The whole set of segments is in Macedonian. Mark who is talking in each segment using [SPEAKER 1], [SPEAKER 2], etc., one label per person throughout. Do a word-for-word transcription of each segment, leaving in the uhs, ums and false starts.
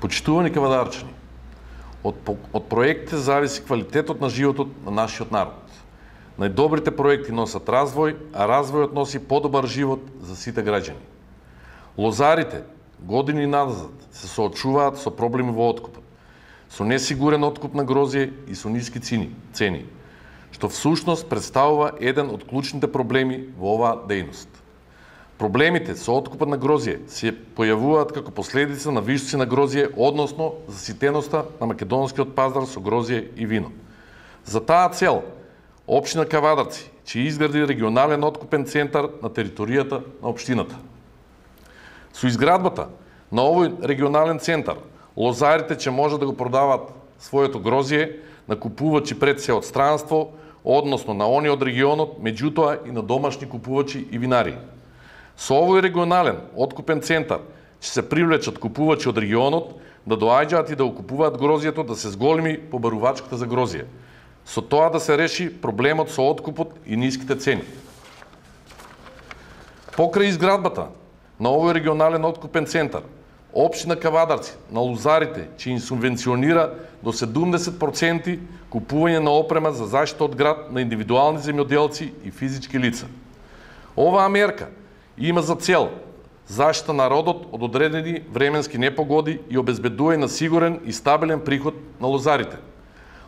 [SPEAKER 1] Почитувани кавадарчани, од, од проектите зависи квалитетот на животот на нашиот народ. Најдобрите проекти носат развој, а развојот носи подобар живот за сите граѓани. Лозарите години назад се соочуваат со проблеми во откупот, со несигурен откуп на грозје и со ниски цени, што всушност представува еден од клучните проблеми во оваа дејност. Проблемите со откупот на грозје се појавуваат како последица на вишоци на грозје, односно заситеноста на македонскиот пазар со грозје и вино. За таа цел, општина Кавадарци ќе изгради регионален откупен центар на територијата на општината. Со изградбата на овој регионален центар, лозарите ќе може да го продават своето грозје на купувачи пред се од странство, односно на они од регионот, меѓутоа и на домашни купувачи и винари. Со овој регионален откупен центар ќе се привлечат купувачи од регионот да доаѓаат и да окупуваат грозјето, да се зголеми побарувачката за грозје. Со тоа да се реши проблемот со откупот и ниските цени. Покрај изградбата на овој регионален откупен центар, општина Кавадарци на лозарите ќе им субвенционира до седумдесет проценти купување на опрема за заштита од град на индивидуални земјоделци и физички лица. Оваа мерка има за цел заштита на родот од одредени временски непогоди и обезбедување на сигурен и стабилен приход на лозарите.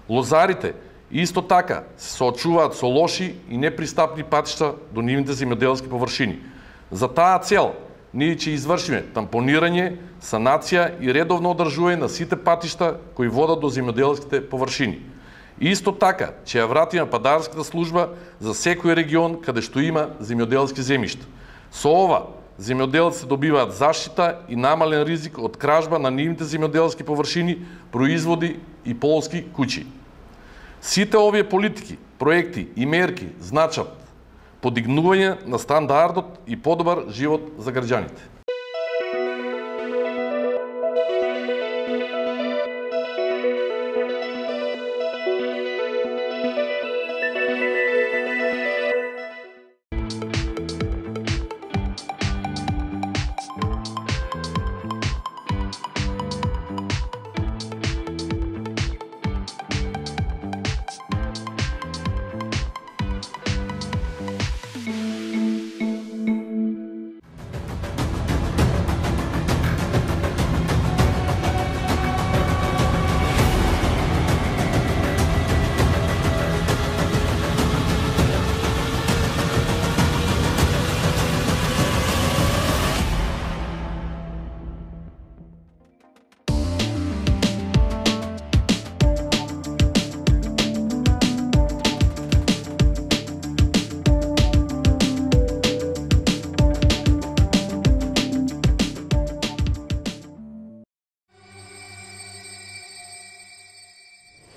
[SPEAKER 1] Лозарите исто така се соочуваат со лоши и непристапни патишта до нивните земјоделски површини. За таа цел ние ќе извршиме тампонирање, санација и редовно одржување на сите патишта кои водат до земјоделските површини. Исто така ќе ја вратиме падарската служба за секој регион каде што има земјоделски земјишта. Со ова, земјоделците добиваат заштита и намален ризик од кражба на нивните земјоделски површини, производи и полски куќи. Сите овие политики, проекти и мерки значат подигнување на стандардот и подобар живот за граѓаните.